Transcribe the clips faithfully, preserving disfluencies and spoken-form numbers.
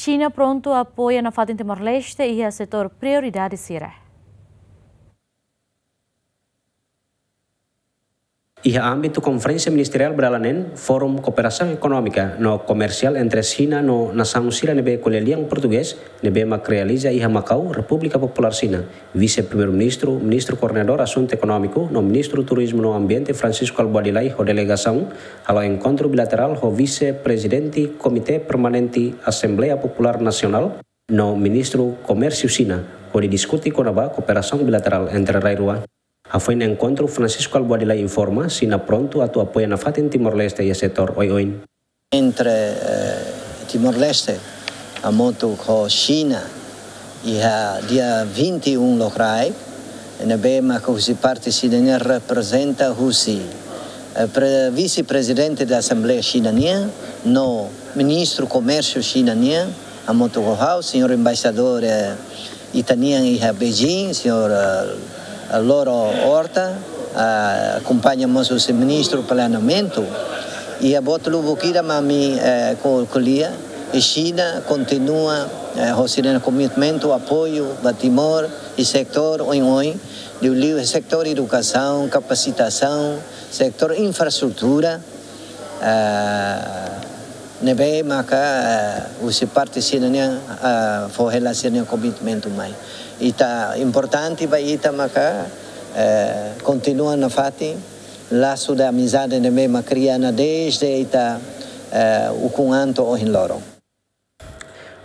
Xina prontu apoia nafatin Timor-Leste iha setór prioridade sira. Iha ámbitu konferénsia ministeriál ba dala neen, Fórum Kooperasaun Ekonómika no Komersiál entre Xina no nasaun sira ne'ebé ko'alia lian portugés, ne'ebé mak realiza iha Makau, Repúblika Populár Xina, Vise-Primeiru-Ministru, Ministru Koordenadór Asuntu Ekonómiku no Ministru Turizmu no Ambiente Francisco Kalbuadi Lay ho delegasaun halo enkontru bilaterál ho Vise-Prezidente Komité Permanente Asembleia Populár Nasionál no Ministru Komérsiu Xina, hodi diskute kona-ba kooperasaun bilaterál entre rai rua. Hafoin enkontru, Francisco Kalbuadi Lay informa, Xina prontu atu apoia nafatin Timor-Leste iha setór oioin. Entre, eh, Timor-Leste hamutuk ho Xina iha dia vinte e um lokraik, ne'ebé maka husi parte Xina nian reprezenta husi, eh, pre-, vise-prezidente da Asembleia Xina nian, no ministru komérsiu Xina nian, hamutuk ho ha'u, señór embaixadór, eh, ita-nian iha Beijing, señór, eh, Loro Horta, eh, akompaña mós husi ministru planeamentu. Iha boot lubuk ida mak ami, eh, ko-, ko'alia, i Xina kontinua, eh, ho sira-nia komitmentu apoiu ba Timor, i setór oioin, liuliu setór edukasaun, kapasitasaun, setór infraestrutura, eh, ne'ebé maka, eh, husi parte Xina nian, eh, fó hela sira-nia komitmentu mai. Ita importante ba ita maka, eh, kontinua nafatin lasu de amizade ne'ebé mak kria ona dezde ita, eh, ukun an to'o ohin loron.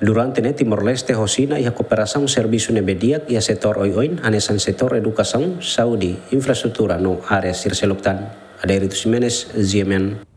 Durante ne'e Timor-Leste ho Xina iha kooperasaun servisu ne'ebé di'ak iha setór oioin, hanesan setór edukasaun, saúde, infraestrutura no área sira seluk tan. Adérito Ximenes, G M N.